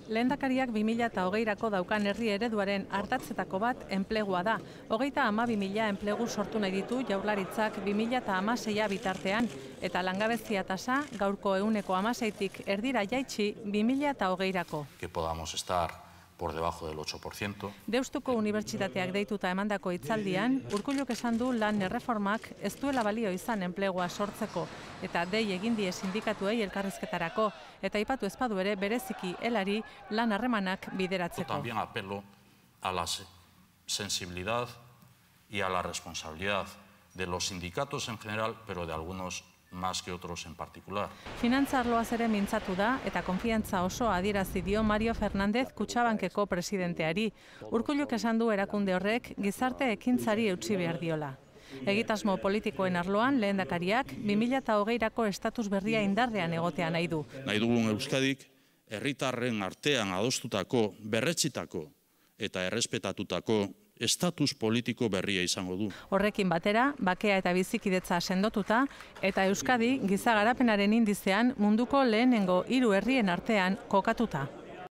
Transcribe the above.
Lehendakariak 2020rako daukan herri ereduaren ardatzetako bat enplegua da. 32.000 enplegu sortu nahi ditu Jaurlaritzak 2016 bitartean, eta langabezia tasa gaurko 16tik erdira jaitsi 2020rako. Que podamos estar por debajo del 8%. Deustuko Unibertsitateak deituta emandako hitzaldian, Urkulluk esan du lan erreformak ez duela balio izan enplegua sortzeko, eta dei egin die sindikatuei elkarrizketarako, eta aipatu ez badu ere bereziki helari lan harremanak bideratzeko. También apelo a la sensibilidad y a la responsabilidad de los sindicatos en general, pero de algunos más que otros en particular. Finantza arloaz ere mintzatu da eta konfiantza osoa adierazi dio Mario Fernández Kutxabankeko presidenteari. Urkulluk esan du erakunde horrek gizarte ekintzari eutsi behar diola. Egitasmo politikoen arloan lehendakariak 2020rako estatus berria indarrean egotea nahi du. Nahi dugun Euskadik herritarren artean adostutako, berretsitako eta errespetatutako estatus politiko berria izango du. Horrekin batera, bakea eta bizikidetza sendotuta, eta Euskadi giza garapenaren indizean munduko lehenengo 3 herrien artean kokatuta.